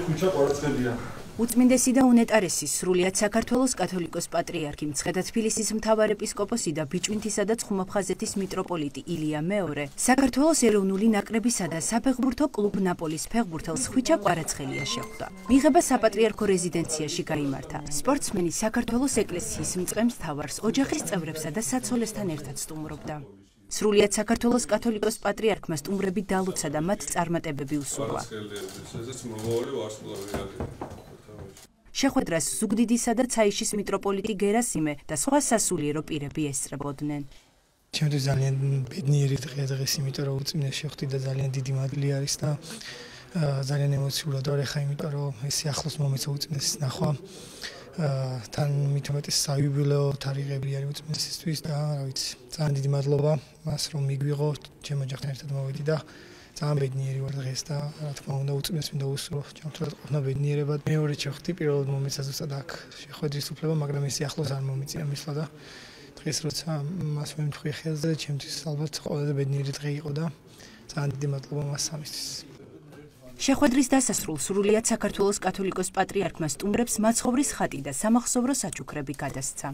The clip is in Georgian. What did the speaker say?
ხუჩა კვარაცხელია. უწმინდესი და უნეტარესი სრულიად საქართველოს კათოლიკოს პატრიარქი მცხეთა თბილისის მთავარეპისკოპოსი და ბიჭვინთისა და ცხუმაფხაზეთის მიტროპოლიტი ილია მეორე საქართველოს ეროვნული ნაკრებისა და საფეხბურთო კლუბ ნაპოლის ფეხბურთელს ხვიჩა კვარაცხელია შეხვდა. მიღება საპატრიარქო რეზიდენციაში გაიმართა. სპორტსმენი საქართველოს ეკლესიის მწყემს მთავარს, ოჯახის წევრებსა და საცოლესთან ერთად სტუმრობდა. სრულიად საქართველოს კათოლიკოს პატრიარქმა სტუმრები დალოცა და მათ წარმატებები უსურვა. შეხვედრას ზუგდიდისა და ცაიშის მიტროპოლიტი გერასიმე და სხვა სასულიერო პირები ესწრებოდნენ. ჩემთვის ძალიან ბედნიერი დღეა დღეს, იმიტომ რომ უწმინდეს შეხვდი და ძალიან დიდი მადლი არის და ძალიან ემოციურად ვარ ახლა, იმიტომ რომ ეს ახლოს მომეცა უწმინდესის ნახვა. თან მით უმეტეს საიუბილეო თარიღები არის უწმინდესისთვის და რა ვიცი, ძალიან დიდი მადლობა მას რომ მიგვიღო, ჩემ ოჯახთან ერთად მოვედი და ძალიან ბედნიერი ვარ დღეს და რა თქმა უნდა უწმინდეს მინდა უსურვო ჩემთვისაც ყოფნა ბედნიერებად. მეორე შეხვდი პირველად მომეცა ზუსტად აქ შეხვედრის უფლება, მაგრამ ეს ახლოს არ მომიწია მისვლა და დღეს როცა მას ვემთხვი ხელზე, ჩემთვის ალბათ ყველაზე ბედნიერი დღე იყო და ძალიან დიდი მადლობა მას ამისთვის. შეხვედრის დასასრულს სრულიად საქართველოს კათოლიკოს პატრიარქმა სტუმრებს მაცხოვრის ხატი და სამახსოვრო საჩუქრები გადასცა.